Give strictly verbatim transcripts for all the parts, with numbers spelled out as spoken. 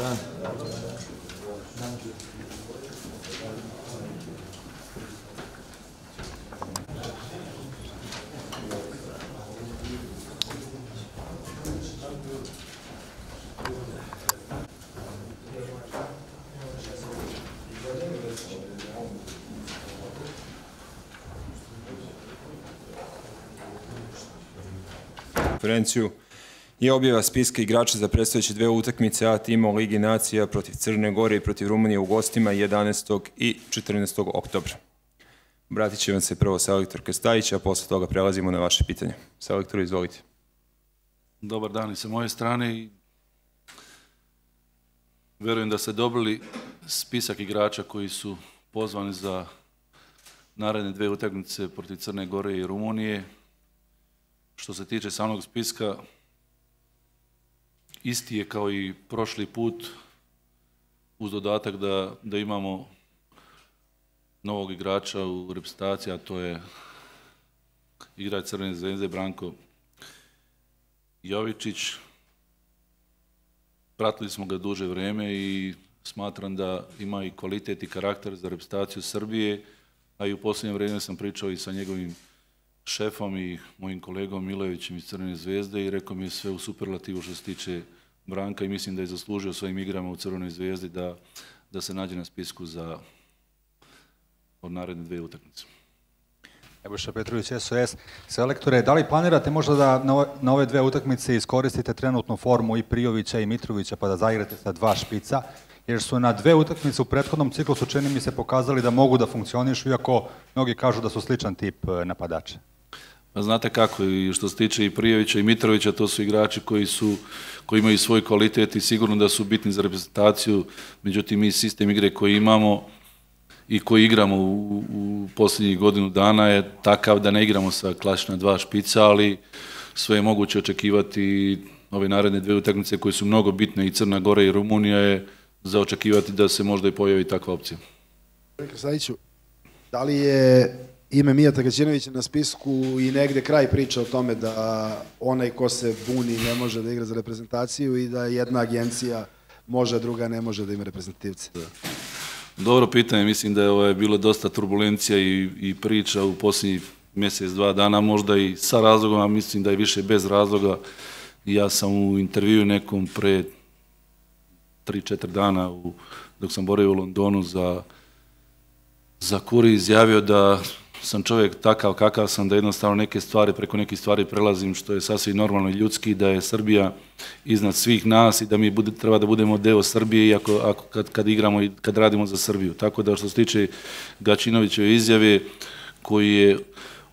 dan. Konferenciju je objava spiska igrača za predstojeće dve utakmice A tima u Ligi nacija protiv Crne Gore i protiv Rumunije u gostima jedanaestog i četrnaestog oktobra. Obratit će vam se prvo selektor Krstajić, a posle toga prelazimo na vaše pitanje. Selektor, izvolite. Dobar dan i sa moje strane. Verujem da ste dobili spisak igrača koji su pozvani za naredne dve utakmice protiv Crne Gore i Rumunije. Što se tiče samog spiska, isti je kao i prošli put, uz dodatak da, da imamo novog igrača u reprezentaciji, a to je igrač Crvene zvezde Branko Jovičić. Pratili smo ga duže vrijeme i smatram da ima i kvalitet i karakter za reprezentaciju Srbije, a i u posljednje vrijeme sam pričao i sa njegovim šefom i mojim kolegom Milojevićem iz Crvene zvezde i rekao mi je sve u superlativu što se tiče Branka i mislim da je zaslužio svojim igrama u Crvenoj zvezdi da, da se nađe na spisku za od naredne dve utakmice. Nebojša Petrović, S O S. Selektore, da li planirate možda da na ove, na ove dve utakmice iskoristite trenutnu formu i Prijovića i Mitrovića pa da zaigrate sa dva špica? Jer su na dve utakmice u prethodnom ciklusu čini mi se pokazali da mogu da funkcionišu, iako mnogi kažu da su sličan tip napadača. Pa znate kako, i što se tiče i Prijovića i Mitrovića, to su igrači koji, su, koji imaju svoj kvalitet i sigurno da su bitni za reprezentaciju, međutim mi sistem igre koji imamo i koji igramo u, u posljednjih godinu dana je takav da ne igramo sa klasična dva špica, ali sve je moguće očekivati ove naredne dve utakmice koje su mnogo bitne i Crna Gora i Rumunija je za očekivati da se možda i pojavi takva opcija. Krstajiću, da li je ime Mijata Gaćinovića na spisku i negde kraj priča o tome da onaj ko se buni ne može da igra za reprezentaciju i da jedna agencija može, a druga ne može da ima reprezentativce? Dobro pitanje, mislim da je ovo bilo dosta turbulencija i, i priča u posljednjih mjesec, dva dana, možda i sa razlogom, a mislim da je više bez razloga. Ja sam u intervju nekom pre tri četiri dana u, dok sam boravio u Londonu za, za Kuri izjavio da sam čovjek takav kakav sam, da jednostavno neke stvari, preko nekih stvari prelazim, što je sasvim normalno i ljudski, da je Srbija iznad svih nas i da mi bude, treba da budemo deo Srbije, iako ako, kad, kad igramo i kad radimo za Srbiju. Tako da što se tiče Gaćinovićeve izjave koji je,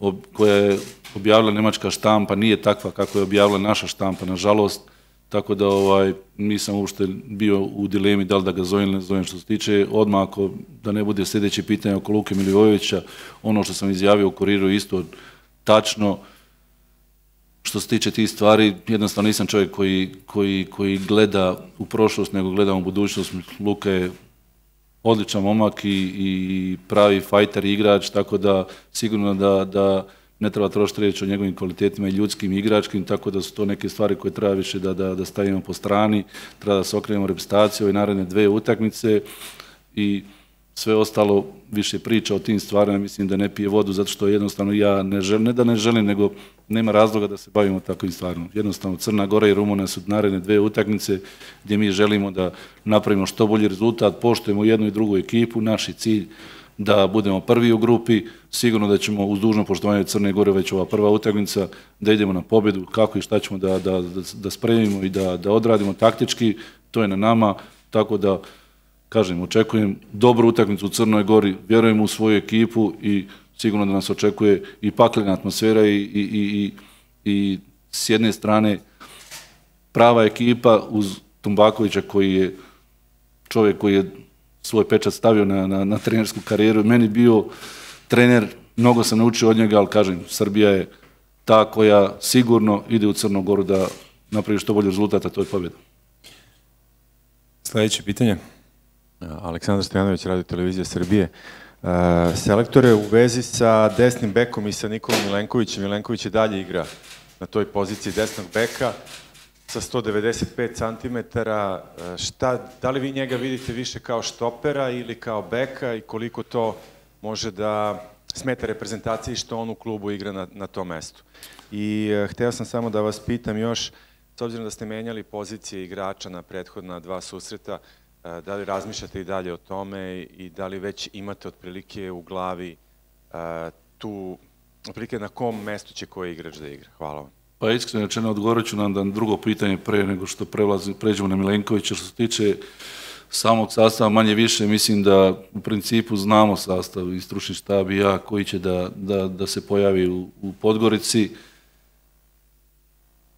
ob, koja je objavila nemačka štampa, nije takva kako je objavila naša štampa, nažalost. Tako da ovaj, nisam uopšte bio u dilemi da li da ga zovem ili ne zovem. Što se tiče odmah, ako da ne bude sljedeće pitanje oko Luke Milivojevića, ono što sam izjavio u Kuriru isto tačno. Što se tiče tih stvari, jednostavno nisam čovjek koji, koji, koji gleda u prošlost, nego gleda u budućnost. Luka je odličan momak i, i pravi fajter igrač, tako da sigurno da, da ne treba trošiti riječ o njegovim kvalitetima i ljudskim i igračkim, tako da su to neke stvari koje treba više da, da, da stavimo po strani, treba da se okrenemo reprezentaciju ove naredne dve utakmice i sve ostalo više priča o tim stvarima, mislim da ne pije vodu, zato što jednostavno ja ne želim, ne da ne želim, nego nema razloga da se bavimo takvim stvarima. Jednostavno Crna Gora i Rumunija su naredne dve utakmice gdje mi želimo da napravimo što bolji rezultat, poštujemo jednu i drugu ekipu, naš je cilj da budemo prvi u grupi, sigurno da ćemo uz dužno poštovanje Crne Gore već ova prva utakmica, da idemo na pobjedu, kako i šta ćemo da, da, da, da spremimo i da, da odradimo taktički, to je na nama, tako da, kažem, očekujem dobru utakmicu u Crnoj Gori, vjerujem u svoju ekipu i sigurno da nas očekuje i paklena atmosfera i, i, i, i s jedne strane prava ekipa uz Tumbakovića koji je čovjek koji je svoj pečat stavio na, na, na trenersku karijeru. Meni bio trener, mnogo sam naučio od njega, ali kažem, Srbija je ta koja sigurno ide u Crnu Goru da napravi što bolji rezultat, a to je pobjeda. Sljedeće pitanje. Aleksandar Stojanović, Radio Televizija Srbije. Uh, selektore, u vezi sa desnim bekom i sa Nikolom Milenkovićem, Milenković je dalje igra na toj poziciji desnog beka. sa sto devedeset pet centimetara, šta, da li vi njega vidite više kao štopera ili kao beka i koliko to može da smeta reprezentaciji što on u klubu igra na, na tom mestu. I uh, hteo sam samo da vas pitam još, s obzirom da ste menjali pozicije igrača na prethodna dva susreta, uh, da li razmišljate i dalje o tome i da li već imate otprilike u glavi uh, tu, otprilike na kom mestu će koji igrač da igra? Hvala vam. Pa iskreno rečeno, odgovorit ću nam na drugo pitanje pre nego što prelazim, pređemo na Milenkovića. Što se tiče samog sastava, manje više, mislim da u principu znamo sastav i stručni štab i ja koji će da, da, da se pojavi u, u Podgorici.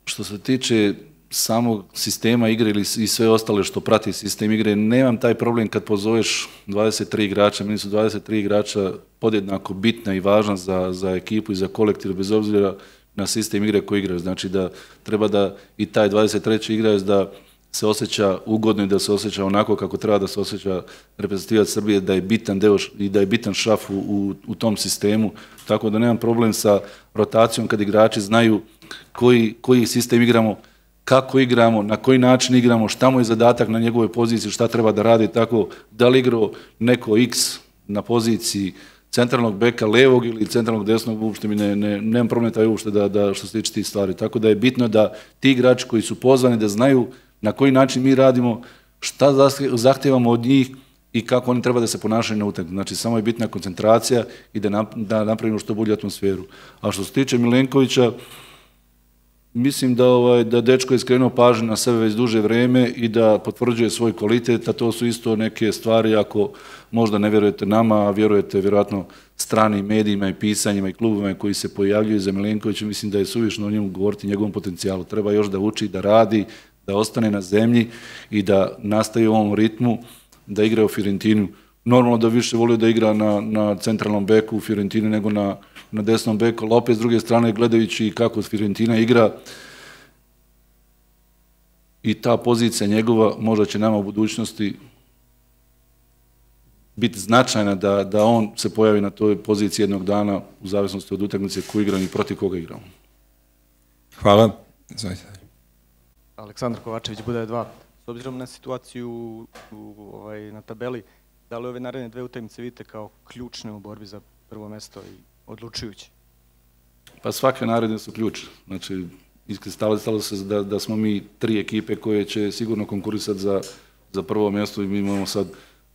Što se tiče samog sistema igre ili i sve ostale što prati sistem igre, nemam taj problem kad pozoveš dvadeset tri igrača, meni su dvadeset tri igrača podjednako bitna i važna za, za ekipu i za kolektiv, bez obzira na sistem igre koji igraju. Znači da treba da i taj dvadeset treći igrač da se osjeća ugodno i da se osjeća onako kako treba da se osjeća reprezentativac Srbije, da je bitan deo i da je bitan šraf u, u, u tom sistemu. Tako da nemam problem sa rotacijom kad igrači znaju koji, koji sistem igramo, kako igramo, na koji način igramo, šta mu je zadatak na njegovoj poziciji, šta treba da radi, tako da li igrao neko X na poziciji centralnog beka levog ili centralnog desnog, uopšte mi ne, ne, nemam problem taj uopšte da, da što se tiče tih stvari. Tako da je bitno da ti igrači koji su pozvani da znaju na koji način mi radimo, šta zahtijevamo od njih i kako oni treba da se ponašaju na utakmici. Znači, samo je bitna koncentracija i da, nap, da napravimo što bolju atmosferu. A što se tiče Milenkovića, mislim da, ovaj, da dečko je skrenuo pažnju na sebe već duže vreme i da potvrđuje svoj kvalitet, a to su isto neke stvari, ako možda ne vjerujete nama, a vjerujete vjerojatno stranim medijima i pisanjima i klubovima koji se pojavljuju za Milenkovića, mislim da je suvišno o njemu govoriti, njegovom potencijalu. Treba još da uči, da radi, da ostane na zemlji i da nastavi u ovom ritmu, da igra u Fiorentinu. Normalno da više volio da igra na, na centralnom beku u Fiorentini nego na, na desnom beku, ali opet s druge strane gledajući kako Fiorentina igra i ta pozicija njegova možda će nama u budućnosti biti značajna da, da on se pojavi na toj poziciji jednog dana u zavisnosti od utakmice koju igram i protiv koga igramo. Hvala. Izvolite. Aleksandar Kovačević, Budaja dva. S obzirom na situaciju u, u, ovaj, na tabeli, da li ove naredne dve utakmice vidite kao ključne u borbi za prvo mesto i odlučujuće? Pa svake naredne su ključne. Znači, iskristalizalo se da, da smo mi tri ekipe koje će sigurno konkurisati za, za prvo mjesto i mi imamo sad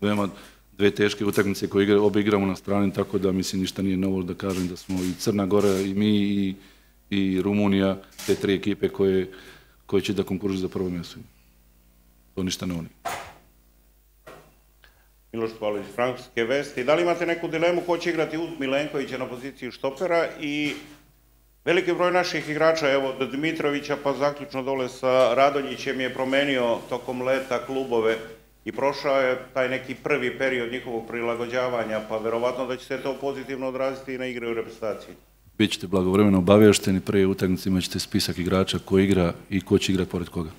veoma dve teške utakmice koje igra, obe igramo na strani, tako da mislim ništa nije novo da kažem da smo i Crna Gora i mi i, i Rumunija, te tri ekipe koje, koje će da konkurišu za prvo mjesto. To ništa ne oni. Miloš Pavlović, Francuske vesti. Da li imate neku dilemu ko će igrati uz Milenkovića na poziciji štopera i veliki broj naših igrača, evo od Dimitrovića pa zaključno dole sa Radonjićem je promenio tokom leta klubove i prošao je taj neki prvi period njihovog prilagođavanja, pa verovatno da će se to pozitivno odraziti i na igre u reprezentaciji. Bićete blagovremeno obavješteni, prije utakmice imat ćete spisak igrača ko igra i ko će igrati pored koga.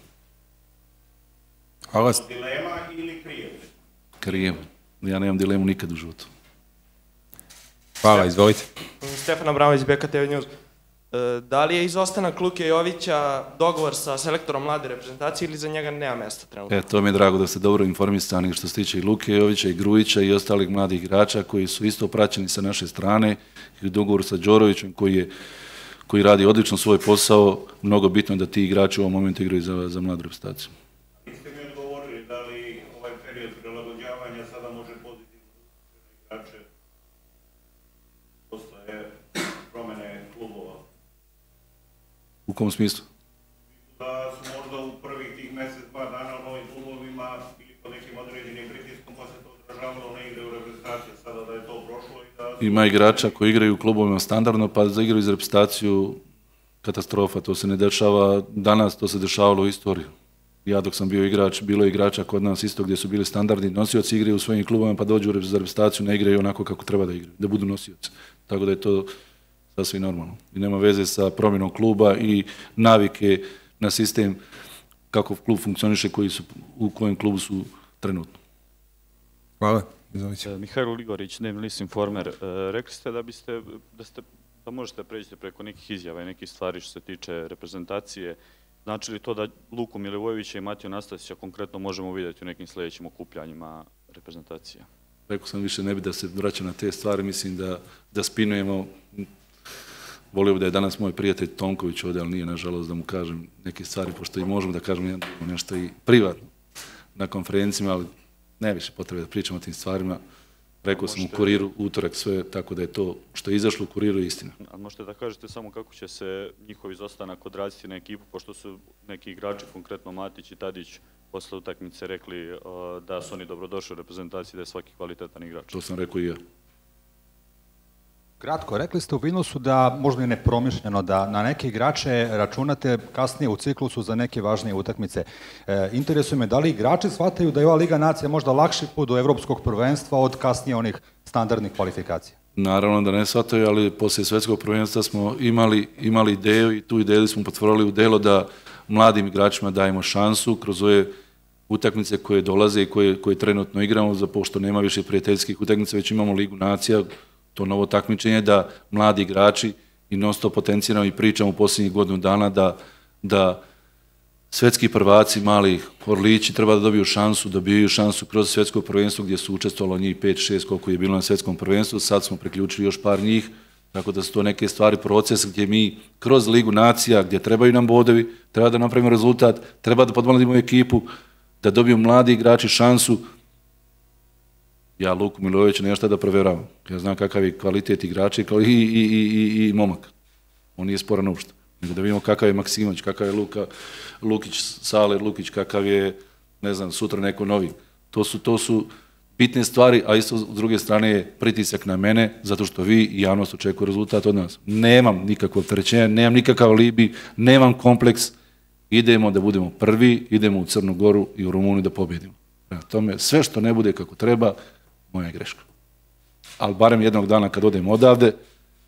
Hvala. Dilema ili krijev? Krijev. Ja nemam dilemu nikad u životu. Hvala, izvolite. Stefan Abramović, B K T V News. Da li je izostanak Luke Jovića dogovor sa selektorom mlade reprezentacije ili za njega nema mesta trenutno? E, to mi je drago da ste dobro informisani što se tiče i Luke Jovića i Grujića i ostalih mladih igrača koji su isto praćeni sa naše strane i u dogovoru sa Đorovićem koji, je, koji radi odlično svoj posao. Mnogo bitno je da ti igrači u ovom momentu igraju za, za mladu reprezentaciju. Niste mi odgovorili da li ovaj period prilagođavanja sada može pozitivno za igrače posle promene klubova? U kom smislu? Da su možda u prvih tih mjesec, dva dana u novim klubovima ili pod nekim određenim pritiskom pa se to odražavalo na igre u reprezentaciji, sada da je to prošlo i da... Ima igrača koji igraju u klubovima standardno pa za igru iz reprezentaciju katastrofa, to se ne dešava danas, to se dešavalo u istoriji. Ja dok sam bio igrač, bilo je igrača kod nas isto gdje su bili standardni nosioci igre u svojim klubovima pa dođu za reprezentaciju, ne igraju onako kako treba da igraju, da budu nosioci. Tako da je to sasvim normalno. I nema veze sa promjenom kluba i navike na sistem kako klub funkcioniše, koji su, u kojem klubu su trenutno. Hvala. Izvolite. Mihajlo Ligorić, Dnevni list Informer. E, rekli ste da biste, da ste, da možete preći preko nekih izjava i nekih stvari što se tiče reprezentacije Znači li to da Luku Milivojevića i Matiju Nastasića konkretno možemo vidjeti u nekim sljedećim okupljanjima reprezentacija? Rekao sam više ne bi da se vraća na te stvari, mislim da, da spinujemo. Volio bi da je danas moj prijatelj Tomković ovdje, ali nije nažalost da mu kažem neke stvari, pošto i možemo da kažemo nešto i privatno na konferencijama, ali ne više potrebe da pričamo o tim stvarima. Rekao sam u Kuriru utorak sve, tako da je to što je izašlo u Kuriru istina. A možete da kažete samo kako će se njihov izostanak odraziti na ekipu, pošto su neki igrači, konkretno Matić i Tadić, posle utakmice rekli uh, da su oni dobrodošli u reprezentaciji, da je svaki kvalitetan igrač. To sam rekao i ja. Kratko, rekli ste u Vilnusu da možda i nepromišljeno da na neke igrače računate kasnije u ciklusu za neke važnije utakmice. E, interesuje me da li igrači shvataju da je ova Liga nacija možda lakši put do evropskog prvenstva od kasnije onih standardnih kvalifikacija? Naravno da ne shvataju, ali poslije svetskog prvenstva smo imali, imali ideju i tu ideju smo potvorili u delo da mladim igračima dajemo šansu kroz ove utakmice koje dolaze i koje, koje trenutno igramo, za pošto nema više prijateljskih utakmica, već imamo Ligu nacija, to novo takmičenje da mladi igrači i non stop potenciramo i pričamo u posljednjih godinu dana da, da svetski prvaci, mali orlići treba da dobiju šansu, dobiju šansu kroz svetsko prvenstvo gdje su učestvovalo njih pet šest koliko je bilo na svetskom prvenstvu, sad smo priključili još par njih, tako da su to neke stvari, proces gdje mi kroz Ligu nacija, gdje trebaju nam bodovi, treba da napravimo rezultat, treba da podmladimo ekipu, da dobiju mladi igrači šansu. Ja Luku Milivojevića nema šta da provjeravam. Ja znam kakav je kvalitet igrača i, i, i, i, i momak. On nije sporan uopšte. Nego da vidimo kakav je Maksimović, kakav je Luka, Lukić, Sale Lukić, kakav je, ne znam, sutra neko novi. To su, to su bitne stvari, a isto s druge strane je pritisak na mene, zato što vi i javnost očekuju rezultat od nas. Nemam nikakvo opterećenje, nemam nikakav alibi, nemam kompleks. Idemo da budemo prvi, idemo u Crnu Goru i u Rumuniju da pobjedimo. Prema tome, sve što ne bude kako treba, moja je greška. Ali barem jednog dana kad odem odavde,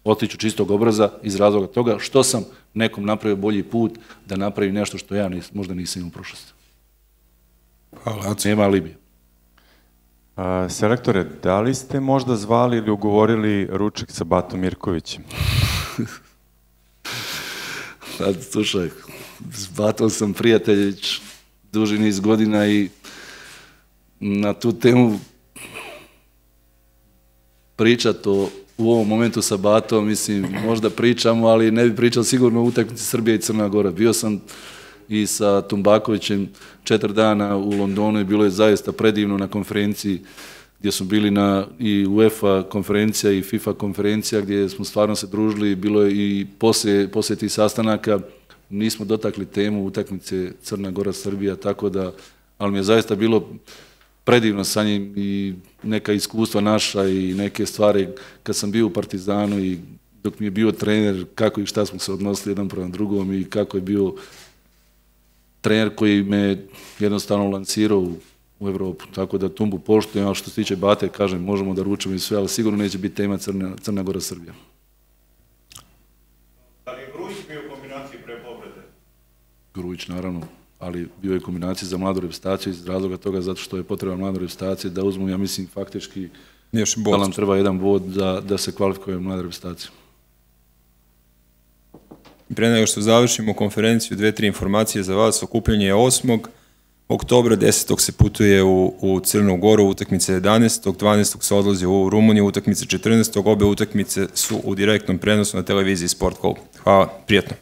otiću čistog obraza iz razloga toga što sam nekom napravio bolji put da napravi nešto što ja nis, možda nisam imao u prošlosti. Hvala. Nema alibija. A, selektore, da li ste možda zvali ili ugovorili ručak sa Batom Mirkovićem? Sad, slušaj, s Batom sam prijatelj duži niz godina i na tu temu pričati o, u ovom momentu sa Batom, mislim, možda pričamo, ali ne bi pričao sigurno o utakmici Srbije i Crna Gora. Bio sam i sa Tumbakovićem četiri dana u Londonu i bilo je zaista predivno na konferenciji gdje smo bili na i UEFA konferencija i FIFA konferencija gdje smo stvarno se družili, bilo je i poslije, poslije tih sastanaka nismo dotakli temu utakmice Crna Gora Srbija, tako da, ali mi je zaista bilo predivno sa njim i neka iskustva naša i neke stvari kad sam bio u Partizanu i dok mi je bio trener, kako i šta smo se odnosili jedan prema drugom i kako je bio trener koji me jednostavno lancirao u, u Evropu. Tako da Tumbu poštujem, a što se tiče Bate, kažem, možemo da ručamo i sve, ali sigurno neće biti tema Crna, Crna Gora Srbija. Da li je Grujić bio u kombinaciji pre povrede? Grujić, naravno, ali bio je kombinacija za mladu reprezentaciju iz razloga toga zato što je potreba mladu reprezentaciju da uzmu, ja mislim, faktički da nam treba jedan bod da, da se kvalifikuje mlada reprezentacija. Pre nego što završimo konferenciju, dve, tri informacije za vas. Okupljanje je osmog oktobra, desetog se putuje u, u Crnu Goru, utakmice jedanaestog, dvanaestog se odlazi u Rumuniju, utakmice četrnaestog Obe utakmice su u direktnom prenosu na televiziji Sport Club. Hvala, prijatno.